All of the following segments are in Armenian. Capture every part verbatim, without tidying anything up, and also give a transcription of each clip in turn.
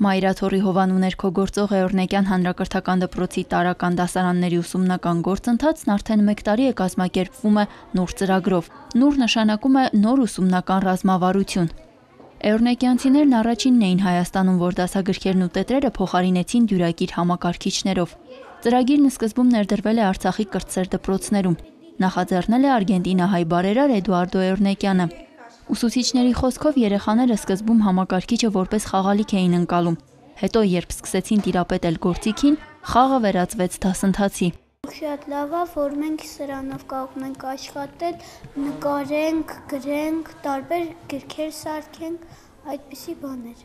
Մայրաթոռի հովանու ներքո գործող Էորնեկյան հանրակրթական դպրոցի տարրական դասարանների ուսումնական գործընթացն արդեն մեկ տարի է կազմակերպվում է նոր ծրագրով։ Նոր նշանակում է նոր ուսումնական ռազմավարություն։ Էորնեկյանցիներն առաջինն էին Հայաստանում, որ դասագրքերն ու տետրերը փոխարինեցին դյուրակիր համակարգիչներով։ Ծրագիրն սկզբում ներդրվել է Արցախի կրտսեր դպրոցներում։ Նախաձեռնել է արգենտինահայ բարերար Էդուարդո Էորնեկյանը։ Ուսուցիչների խոսքով երեխաները սկզբում համակարգիչը որպես խաղալիք էին ընկալում, հետո երբ սկսեցին տիրապետել գործիքին, խաղը վերածվեց դասընթացի։ Շատ լավ է, որ մենք սրանով կարող ենք աշխատել, նկարենք, գրենք, տարբեր գրքեր սարքենք, այդպիսի բաներ։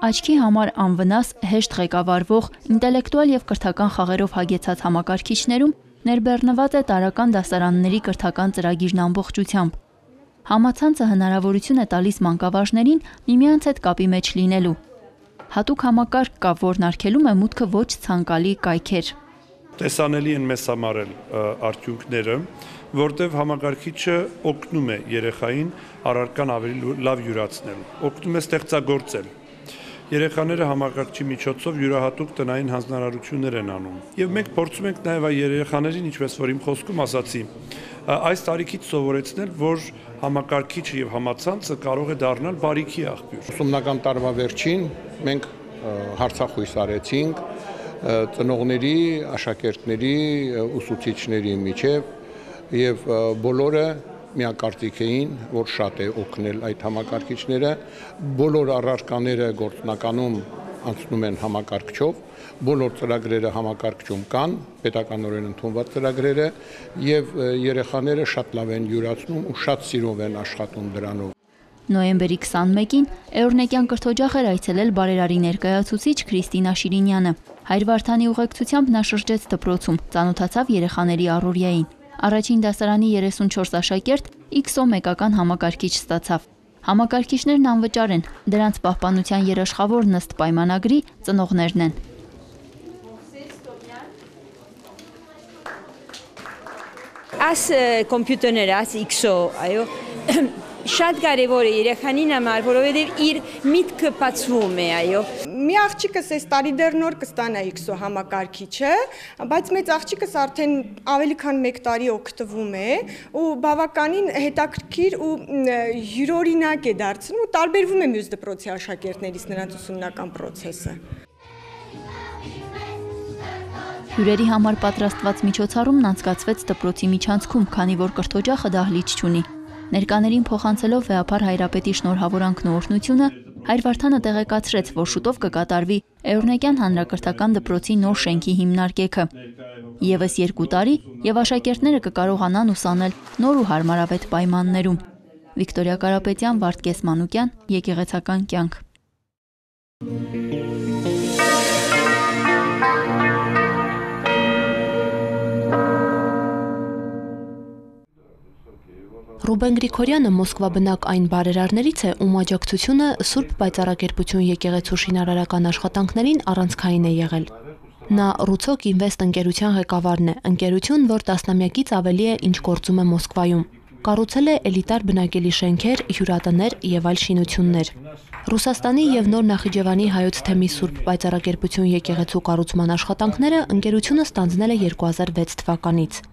Աչքի համար անվնաս, հեշտ ղեկավարվող, ինտելեկտուալ եւ կրթական խաղերով հագեցած համակարգիչներում ներբեռնված է տարրական դասարանների կրթական ծրագիրն ամբողջությամբ։ Համացանցը հնարավորություն է տալիս մանկավարժներին միմյանց հետ կապի մեջ լինելու։ Հատուկ համակարգ կա, որն արգելում է մուտքը ոչ ցանկալի կայքեր։ Տեսանելի են մեզ համար արդյունքները, որտեղ համակարգիչը օգնում է երեխային առարկան ավելի լավ յուրացնել, օգնում է ստեղծագործել։ Երեխաները համակարգչի միջոցով յուրահատուկ տնային հանձնարարություններ են անում։ Եվ մենք փորձում ենք նաև այ երեխաներին, ինչպես որ իմ խոսքում ասացի, այս տարիքից սովորեցնել, որ համակարգիչը եւ համացանցը կարող է դառնալ բարիքի աղբյուր։ Ուսումնական տարվա վերջին մենք հարցախույս արեցինք ծնողների, աշակերտների, ուսուցիչների միջև եւ բոլորը միակարծիք էին, որ շատ է օգնել այդ համակարգիչները, բոլոր առարկաները գործնականում անցնում են համակարգչով, բոլոր ծրագրերը համակարգչում կան, պետականորեն ընդունված ծրագրերը եւ երեխաները շատ լավ են յուրացնում ու շատ սիրով են աշխատում դրանով։ Նոյեմբերի քսանմեկին Էորնեկյան կրթօջախ էր այցելել բարերարի ներկայացուցիչ Քրիստինա Շիրինյանը։ Հայր Վարդանի ուղեկցությամբ նա շրջեց դպրոցում, ծանոթացավ երեխաների առօրյային։ Առաջին դասարանի երեսունչորս աշակերտ X O մեկական համակարգիչ ստացավ։ Համակարգիչներն անվճար են, դրանց պահպանության երաշխավորն ըստ պայմանագրի ծնողներն են։ Աս կոմպյուտերները, աս X O, այո, շատ կարևոր է երեխանին համար, որովհետև իր միտքը բացվում է, այո։ Մի աղջիկս այս տարի դեռ նոր կստանա X O համակարգիչը, բայց մեծ աղջիկս արդեն ավելի քան մեկ տարի օգտվում է ու բավականին հետաքրքիր ու յուրօրինակ է դարձնում ու տարբերվում է մյուս դպրոցի աշակերտներից նրանց ուսումնական process-ը։ Հյուրերի համար պատրաստված միջոցառումն անցկացվեց դպրոցի միջանցքում, քանի որ կրթօջախը դահլիճ չունի։ Ներկաներին փոխանցելով վեհապար Հայրապետի շնորհավորանքն ու օրհնությունը, Հայր Վարդանը տեղեկացրեց, որ շուտով կկատարվի Էորնեկյան հանրակրթական դպրոցի նոր շենքի հիմնարկեքը։ Եվս երկու տարի եւ աշակերտները կկարողանան ուսանել նոր ու հարմարավետ պայմաններում։ Վիկտորիա Կարապետյան, Վարդգես Մանուկյան, Եկեղեցական կյանք։ Ռուբեն Գրիգորյանը Մոսկվա բնակ այն բարերարներից է, ում աջակցությունը Սուրբ Պայծառակերպություն եկեղեցու շինարարական աշխատանքներին առանցքային է եղել։ Նա Ռուցոկ Ինվեստ ընկերության ղեկավարն է, ընկերություն, որ տասնամյակից ավելի է ինչ գործում է Մոսկվայում։ Կառուցել է էլիտար բնակելի շենքեր, հյուրատներ եւ այլ շինություններ։ Ռուսաստանի եւ Նոր Նախիջևանի հայոց թեմի Սուրբ Պայծառակերպություն եկեղեցու կառուցման աշխատանքները ընկերությունը ստանձնել է երկու հազար վեց թվականից։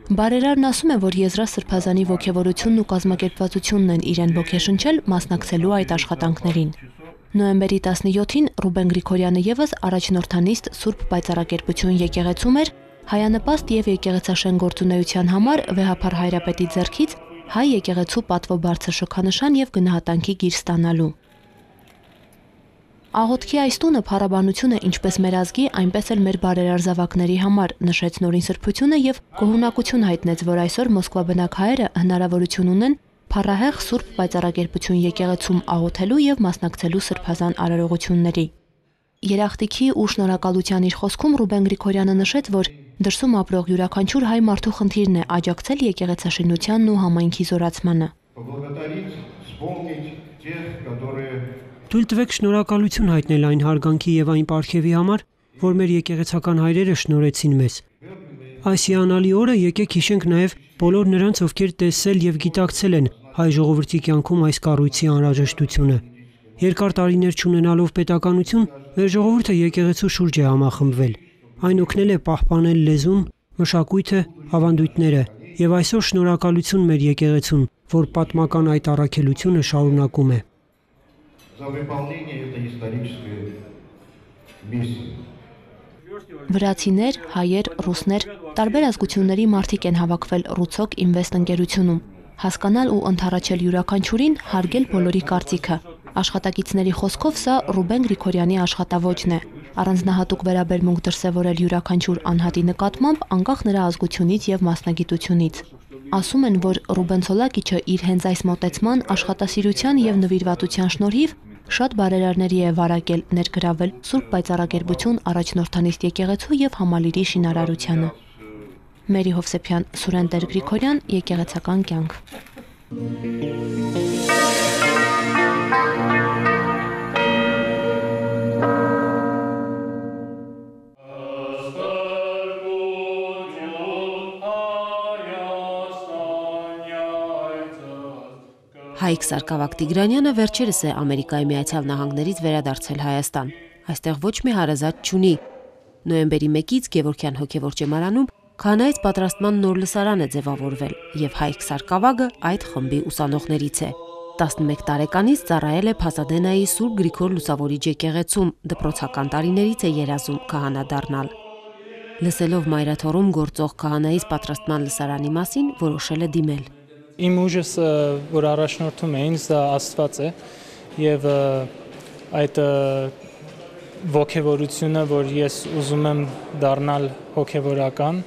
Բարերարն ասում է, որ Եզրասրբազանի ոգևորությունն ու կազմակերպվածությունն են իրեն ոգեշնչել մասնակցելու այդ աշխատանքներին։ Նոյեմբերի տասնյոթին Ռուբեն Գրիգորյանը եւս առաջնորդանիստ Սուրբ Պայծառակերպություն եկեղեցում էր հայանպաստ եւ եկեղեցաշեն գործունեության համար վեհապար Հայրապետի ձեռքից հայ եկեղեցու պատվո բարձր շքանշան եւ գնահատանքի գիր ստանալու։ Աղոթքի այս տունը փառաբանություն է ինչպես մեր ազգի, այնպես էլ մեր բարերար զավակների համար, նշեց Նորին Սրբությունը եւ գոհունակություն հայտնեց, որ այսօր Մոսկվա բնակ հայերը հնարավորություն ունեն փառահեղ Սուրբ Պայծառակերպություն եկեղեցում աղոթելու եւ մասնակցելու սրբազան արարողությունների։ Երախտիքի ու շնորհակալության իր խոսքում Ռուբեն Գրիգորյանը նշեց, որ Դրսում ապրող յուրաքանչյուր հայ մարդու խնդիրն է աջակցել եկեղեցաշինությանն ու համայնքի զորացմանը։ Թույլ տվեք շնորհակալություն հայտնել այն հարգանքի եւ այն պարգևի համար, որ մեր եկեղեցական հայրերը շնորհեցին մեզ։ Այս հիանալի օրը եկեք հիշենք նաեւ բոլոր նրանց, ովքեր տեսել եւ գիտակցել են հայ ժողովրդի կյանքում այս կառույցի անհրաժեշտությունը։ Երկար տարիներ չունենալով պետականություն, մեր ժողովուրդը եկեղեցու շուրջ է համախմբվել։ Այն օգնել է պահպանել լեզուն, մշակույթը, ավանդույթները եւ այսօր շնորհակալություն մեր եկեղեցուն, որ պատմական այդ առաքելությունը շարունակում է։ Վրացիներ, հայեր, ռուսներ, տարբեր ազգությունների մարդիկ են հավաքվել Ռուցոկ Ինվեստ ընկերությունում։ Հասկանալ ու ընդառաջել յուրաքանչյուրին, հարգել բոլորի կարծիքը։ Աշխատակիցների խոսքով սա Ռուբեն Գրիգորյանի աշխատավոճն է։ Առանձնահատուկ վերաբերմունք դրսևորել յուրաքանչյուր անհատի նկատմամբ անկախ նրա ազգությունից եւ մասնագիտությունից։ Ասում են, որ Ռուբեն Ցոլակիչը իր հենց այս մոտեցման, աշխատասիրության եւ նվիրվածության շնորհիվ շատ բարերարների է վարակել, ներգրավել Սուրբ Պայծառակերպություն առաջնորդանիստ եկեղեցու եւ համալիրի շինարարությանը։ Մերի Հովսեփյան, Սուրեն Տեր Գրիգորյան, եկեղեցական կյանք։ Հայկ Սարգսակ Տիգրանյանը վերջերս է Ամերիկայի Միացյալ Նահանգներից վերադարձել Հայաստան։ Այստեղ ոչ մի հարազատ չունի։ Նոյեմբերի մեկից Գևորգյան հոգևոր ճեմարանում քահանայից պատրաստման նոր լսարան է ձևավորվել, եւ Հայկ Սարգսակը այդ խմբի ուսանողներից է։ տասնմեկ տարեկանից ծառայել է Փասադենայի Սուրբ Գրիգոր Լուսավորիչ եկեղեցում, դպրոցական տարիներից է երազում քահանա դառնալ։ Լսելով մայրաթոռում գործող քահանայից պատրաստման լսարանի մասին, որոշել է դիմել։ Իմ ուժս, որ առաջնորդում է ինձ, դա Աստված է եւ այդ ոգևորությունը, որ ես ուզում եմ դառնալ հոգևորական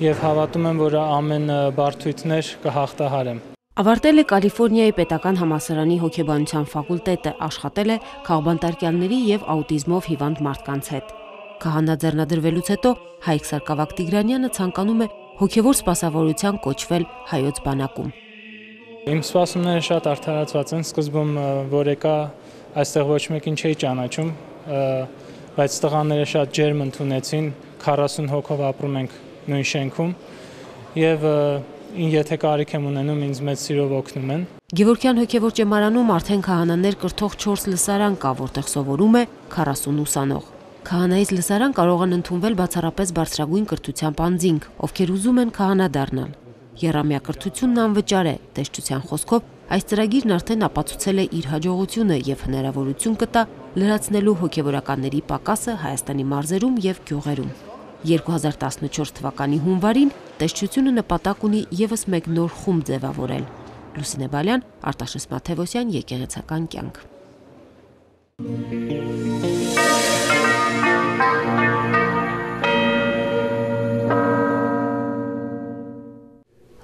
եւ հավատում եմ, որ ամեն բարդույթներ կհաղթահարեմ։ Ավարտել է Կալիֆոռնիայի պետական համալսարանի հոգեբանության ֆակուլտետը, աշխատել է քաղբանտարկյալների եւ աուտիզմով հիվանդ մարդկանց հետ։ Քահանա ձեռնադրվելուց հետո Հայկ Սարգսակ Տիգրանյանը ցանկանում է հոգևոր սպասավորության կոչվել հայոց բանակում։ Իմ սպասումները շատ արդարացված են, սկզբում որ եկա այստեղ ոչ մեկին չէի ճանաչում, բայց տղաները շատ ջերմ ընդունեցին, քառասուն հոգով ապրում ենք նույն շենքում եւ եթե կարիք եմ ունենում, ինձ մեծ սիրով օգնում են։ Գևորգյան հոգևոր ճեմարանում արդեն քահանաներ կրթող չորս լսարան կա, որտեղ սովորում է քառասուն ուսանող։ Քահանայից լսարան կարող են ընդունվել բացառապես բարձրագույն կրթությամբ անձինք, ովքեր ուզում են քահանա դառնալ։ Եռամյա կրթությունն անվճար է, տեսչության խոսքով այս ծրագիրն արդեն ապացուցել է իր հաջողությունը եւ հնարավորություն կտա լրացնելու հոգեվորականների պակասը Հայաստանի մարզերում եւ գյուղերում։ երկու հազար տասնչորս թվականի հունվարին տեսչությունը նպատակ ունի եւս մեկ նոր խումբ ձևավորել։ Լուսինե Բալյան, Արտաշես Մաթևոսյան, եկեղեցական կյանք։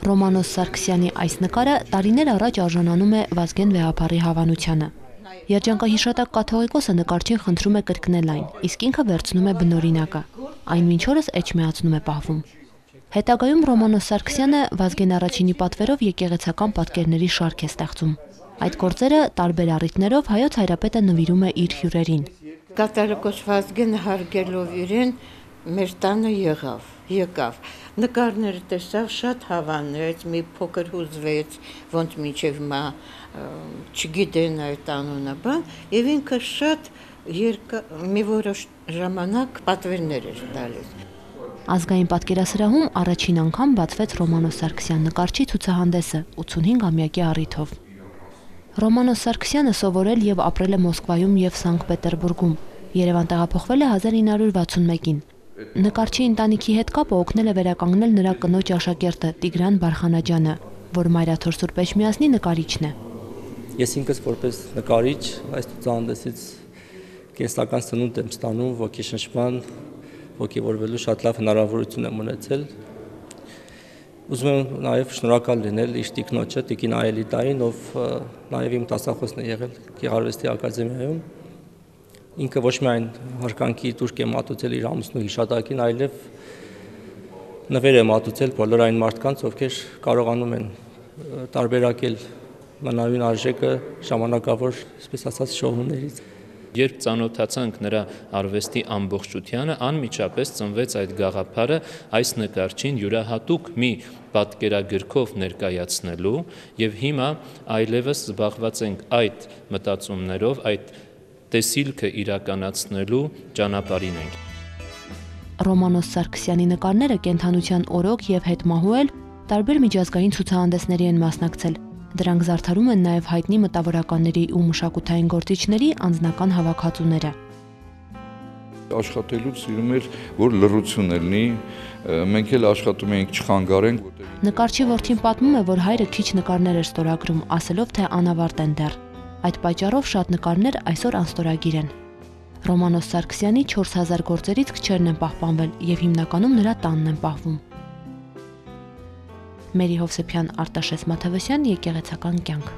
Ռոմանոս Սարգսյանի այս նկարը տարիներ առաջ արժանանում է Վազգեն Վեհափառի հավանությանը։ Երջանկահիշատակ կաթողիկոսը նկարչին խնդրում է կրկնել այն, իսկ ինքը վերցնում է բնօրինակը։ Այն մինչ օրս էջմիածնում է պահվում։ Հետագայում Ռոմանոս Սարգսյանը Վազգեն առաջինի պատվերով եկեղեցական պատկերների շարք է ստեղծում։ Այդ գործերը տարբեր առիթներով հայոց հայրապետը նվիրում է իր հյուրերին։ Կաթողիկոս Վազգենը հարգելով իրեն մեր տանը եղավ, եկավ։ Նկարները տեսավ, շատ հավանեց, մի փոքր հուզվեց, ոնց մինչև մա չգիտեն այդ անունը բան, եւ ինքը շատ երկա մի որոշ ժամանակ պատվերներ էր տալիս։ Ազգային պատկերասրահում առաջին անգամ բացվեց Ռոմանոս Սարգսյան նկարչի ցուցահանդեսը ութսունհինգամյակի առիթով։ Ռոմանոս Սարգսյանը սովորել եւ ապրել է Մոսկվայում եւ Սանկտ Պետերբուրգում։ Երևան տեղափոխվել է հազար ինը հարյուր վաթսունմեկին։ Նկարչի ընտանիքի հետ կապը օգնել է վերականգնել նրա կնոջ աշակերտը Տիգրան Բարխանաջյանը, որ Մայրաթոր Սուրբ Էջմիածնի նկարիչն է։ Ես ինքս որպես նկարիչ այս ցուցահանդեսից կենսական սնունդ եմ ստանում, ոգեշնչման, ոգևորվելու շատ լավ հնարավորություն եմ ունեցել։ Ուզում եմ նաև շնորհակալ լինել իր տիկնոջը, Տիկին Այելիտային, ով նաև իմ դասախոսն է եղել Գեղարվեստի ակադեմիայում։ Ինքը ոչ միայն հարկանքի տուրք է մատուցել իր ամուսնու հիշատակին, այլև նվեր է մատուցել բոլոր այն մարդկանց, ովքեր կարողանում են տարբերակել մնայուն արժեքը ժամանակավոր, այսպես ասած, շոուներից։ Երբ ծանոթացանք նրա արվեստի ամբողջությանը, անմիջապես ծնվեց այդ գաղափարը այս նկարչին յուրահատուկ մի պատկերագրքով ներկայացնելու, եւ հիմա այլևս զբաղված ենք այդ մտածումներով, այդ տեսիլքը իրականացնելու ճանապարհին ենք։ Ռոմանոս Սարգսյանի նկարները կենթանության օրոք եւ հետմահու էլ տարբեր միջազգային ցուցահանդեսների են մասնակցել։ Դրանք զարդարում են նաև հայտնի մտավորականների ու մշակութային գործիչների անձնական հավաքածուները։ Աշխատելուց սիրում էր, որ լռություն լինի, մենք էլ աշխատում էինք չխանգարենք։ Նկարչի որդին պատմում է, որ հայրը քիչ նկարներ էր ստորագրում, ասելով, թե անավարտ են դեռ։ Այդ պատճառով շատ նկարներ այսօր անստորագիր են։ Ռոմանոս Սարգսյանի չորս հազար գործերից քչերն են պահպանվել եւ հիմնականում նրա տանն են պահվում։ Մերի Հովսեփյան, Արտաշես Մաթևոսյան, Եկեղեցական կյանք։